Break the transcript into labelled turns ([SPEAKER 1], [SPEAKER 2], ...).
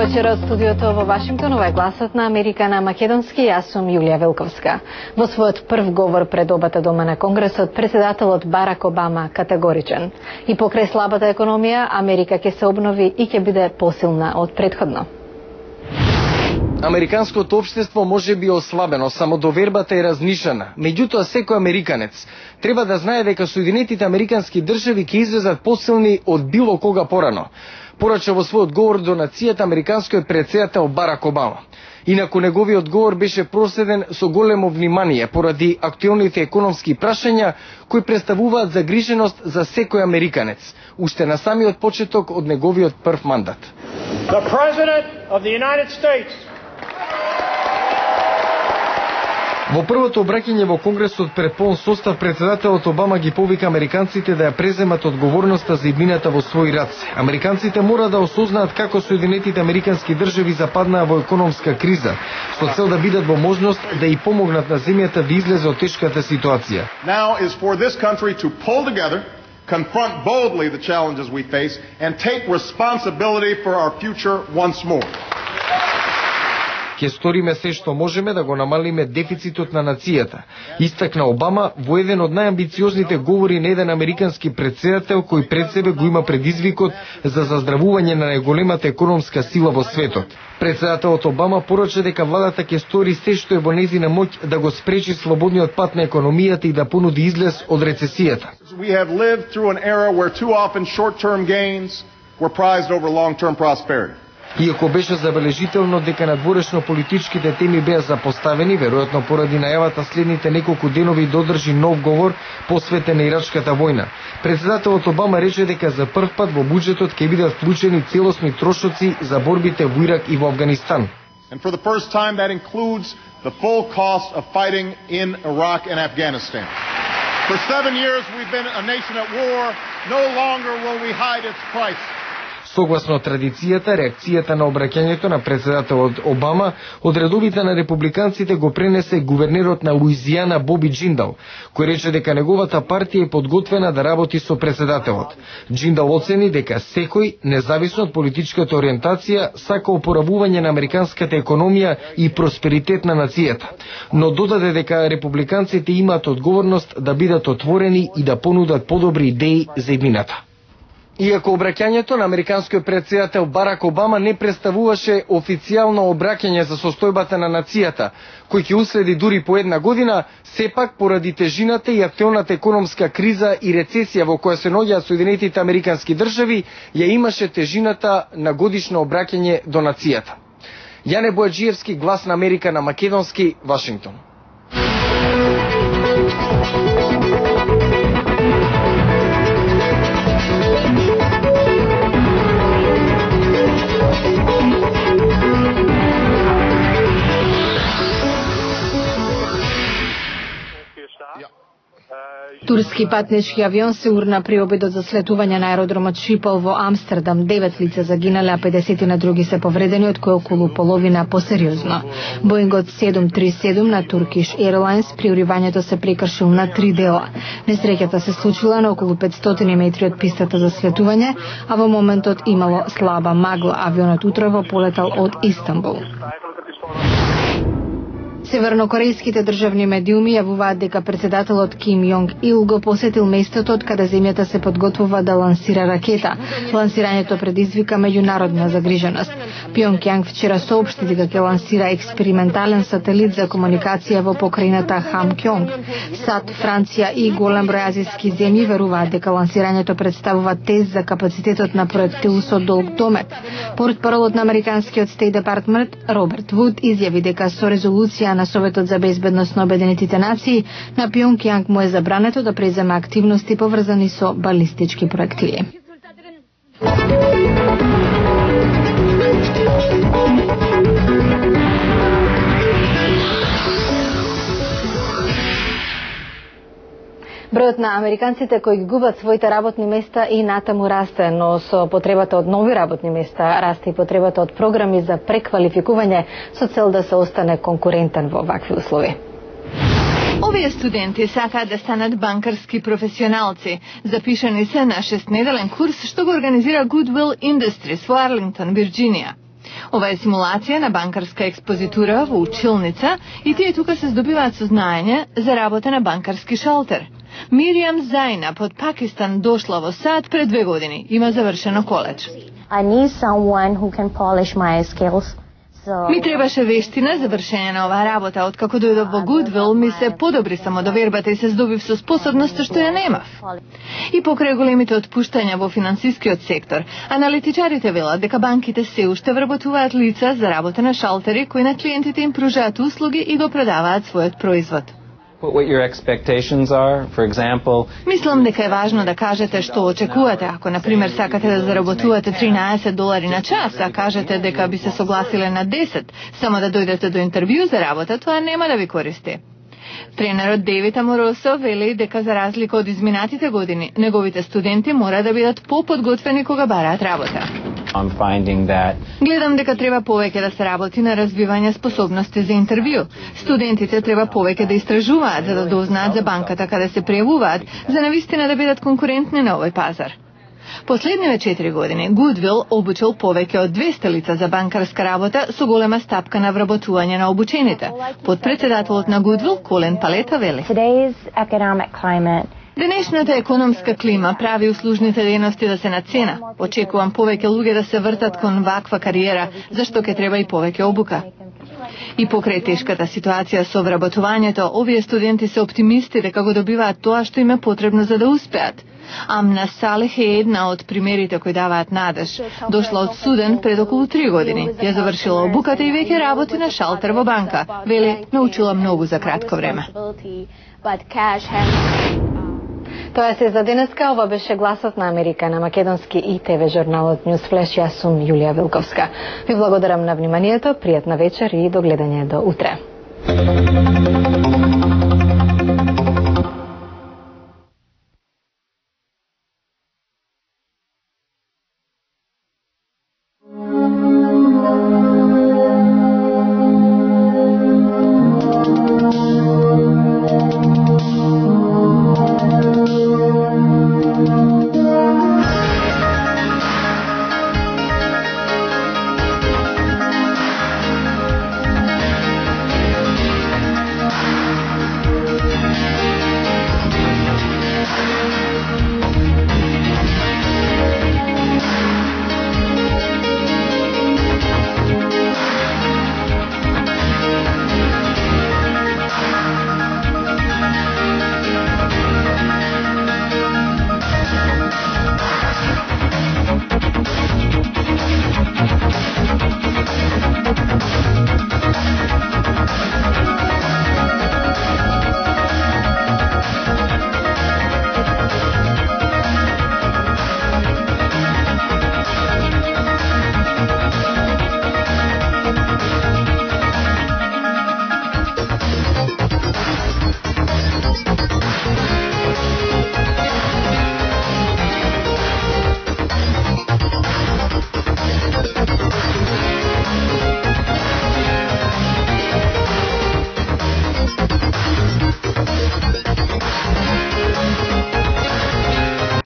[SPEAKER 1] вечер од студиото во Вашингтон, ова е гласот на Америка на македонски, јас сум Јулија Велковска. Во својот прв говор пред обата дома на Конгресот, председателот Барак Обама категоричен. И покрај слабата економија, Америка ќе се обнови и ќе биде посилна од претходно.
[SPEAKER 2] Американското општество може би ослабено, самодовербата е разнишена. Меѓутоа, секој американец треба да знае дека Соединетите Американски држави ќе излезат посилни од било кога порано, порача во својот говор до нацијата американскиот претседател Барак Обама. Инаку неговиот говор беше проследен со големо внимание поради актуелните економски прашања кои представуваат загриженост за секој американец, уште на самиот почеток од неговиот прв мандат.
[SPEAKER 3] The President of the United States.
[SPEAKER 2] Во првото обраќање во Конгресот пред полн состав, председателот Обама ги повика американците да ја преземат одговорноста за иднината во своји раце. Американците мора да осознаат како Соединетите Американски држави западнаа во економска криза, со цел да бидат во можност да и помогнат на земјата да излезе од тешката ситуација.
[SPEAKER 4] Now is for this country to pull together, confront boldly the challenges we face, and take responsibility for our future once more.
[SPEAKER 2] Ќе сториме се што можеме да го намалиме дефицитот на нацијата, истакна Обама во еден од најамбициозните говори на еден американски претседател кој пред себе го има предизвикот за заздравување на најголемата економска сила во светот. Председателот Обама порача дека владата ќе стори се што е во нејзина моќ да го спречи слободниот пат на економијата и да понуди излез од рецесијата.
[SPEAKER 4] We have lived through an era where too often short-term gains were prized over long-term prosperity.
[SPEAKER 2] Иако беше забележително дека надворешно политичките теми беа запоставени, веројатно поради најавата следните неколку денови да одржи нов говор посветен на Ирачката војна, председателот Обама рече дека за прв пат во буџетот ќе бидат вклучени целосни трошоци за борбите во Ирак и во Авганистан.
[SPEAKER 4] And for the first time that includes the full cost of fighting in Iraq and Afghanistan. For 7 years we've been a nation at war, no longer will we hide its price.
[SPEAKER 2] Согласно традицијата, реакцијата на обраќањето на председателот Обама од редовите на републиканците го пренесе гувернерот на Луизијана Боби Джиндал, кој рече дека неговата партија е подготвена да работи со председателот. Джиндал оцени дека секој, независно од политичката ориентација, сака опоравување на американската економија и просперитет на нацијата, но додаде дека републиканците имаат одговорност да бидат отворени и да понудат подобри идеи за иднината. Иако обраќањето на американскиот претседател Барак Обама не представуваше официјално обраќање за состојбата на нацијата, кој ќе уследи дури по една година, сепак поради тежината и актуелната економска криза и рецесија во која се наоѓаат Соединетите Американски држави, ја имаше тежината на годишно обраќање до нацијата. Јане Бојаджиевски, Глас на Америка на македонски, Вашингтон.
[SPEAKER 1] Турски патнички авион се урна при обидот за слетување на аеродромот Шипол во Амстердам. 9 лица загинале, а 50 на други се повредени, од кои околу половина посериозно. Боингот 737 на Turkish Airlines при уривањето се прекршил на 3 дела. Несреќата се случила на околу 500 метри од пистата за слетување, а во моментот имало слаба магла. Авионот утрово полетал од Истанбул. Севернокорејските државни медиуми јавуваат дека председателот Ким Јонг Ил го посетил местото од каде земјата се подготвува да лансира ракета. Лансирањето предизвика меѓународна загриженост. Пјонкјанг вчера соопшти дека ќе лансира експериментален сателит за комуникација во покрајната Хамкјонг. САД, Франција и голем број азиски земји веруваат дека лансирањето представува тест за капацитетот на проектил со долг домет. Портпаролот на американскиот Стейт Департмент Роберт Вуд изјави дека со резолуција на Советот за безбедност на Обединетите нации на Пјонкјанг му е забрането да презема активности поврзани со балистички проектили. Бројот на американците кои ги губат своите работни места и натаму расте, но со потребата од нови работни места расте и потребата од програми за преквалификување со цел да се остане конкурентен во вакви услови.
[SPEAKER 5] Овие студенти сакаат да станат банкарски професионалци. Запишани се на 6-неделен курс што го организира Goodwill Industries во Арлингтон, Вирџинија. Ова е симулација на банкарска експозитура во училница и тие тука се здобиваат со знаење за работа на банкарски шалтер. Мириам Зайнаб од Пакистан дошла во САД пред 2 години. Има завршено коледж.
[SPEAKER 6] I need someone who can polish my skills.
[SPEAKER 5] Ми требаше вештина за вршење на оваа работа. Откако дојдов во Goodwill, ми се подобри самодовербата и се здобив со способност што ја немав. И покрај големите отпуштања во финансискиот сектор, аналитичарите велат дека банките се уште вработуваат лица за работа на шалтери кои на клиентите им пружаат услуги и го продаваат својот производ.
[SPEAKER 7] What your expectations are, for example.
[SPEAKER 5] Мислам дека е важно да кажете што очекувате. Ако, например, сакате да заработувате $13 на час, а кажете дека би се согласиле на 10, само да дојдете до интервју за работа, тоа нема да ви користи. Тренерот Дейвид Аморосо вели дека за разлика од изминатите години, неговите студенти мора да бидат поподготвени кога бараат работа. Гледам дека треба повеќе да се работи на развивање способности за интервју. Студентите треба повеќе да истражуваат за да дознаат за банката каде се пријавуваат, за навистина да бидат конкурентни на овој пазар. Последниве 4 години Goodwill обучил повеќе од 200 лица за банкарска работа со голема стапка на вработување на обучените. Подпредседателот на Goodwill, Колен Палета, вели: Денешната економска клима прави услужните дејности да се нацена. Очекувам повеќе луѓе да се вртат кон ваква кариера, зашто ќе треба и повеќе обука. И покрај тешката ситуација со вработувањето, овие студенти се оптимисти дека го добиваат тоа што им е потребно за да успеат. Амна Салех е една од примерите кои даваат надеж. Дошла од Суден пред околу 3 години. Ја завршила обуката и веќе работи на шалтер во банка. Вели, научила многу за кратко време.
[SPEAKER 1] Тоа се за денеска. Ова беше Гласот на Америка на македонски и ТВ журналот News Flash. Јас сум Јулија Вилковска. Ви благодарам на вниманието, пријатна вечер и до гледање до утре.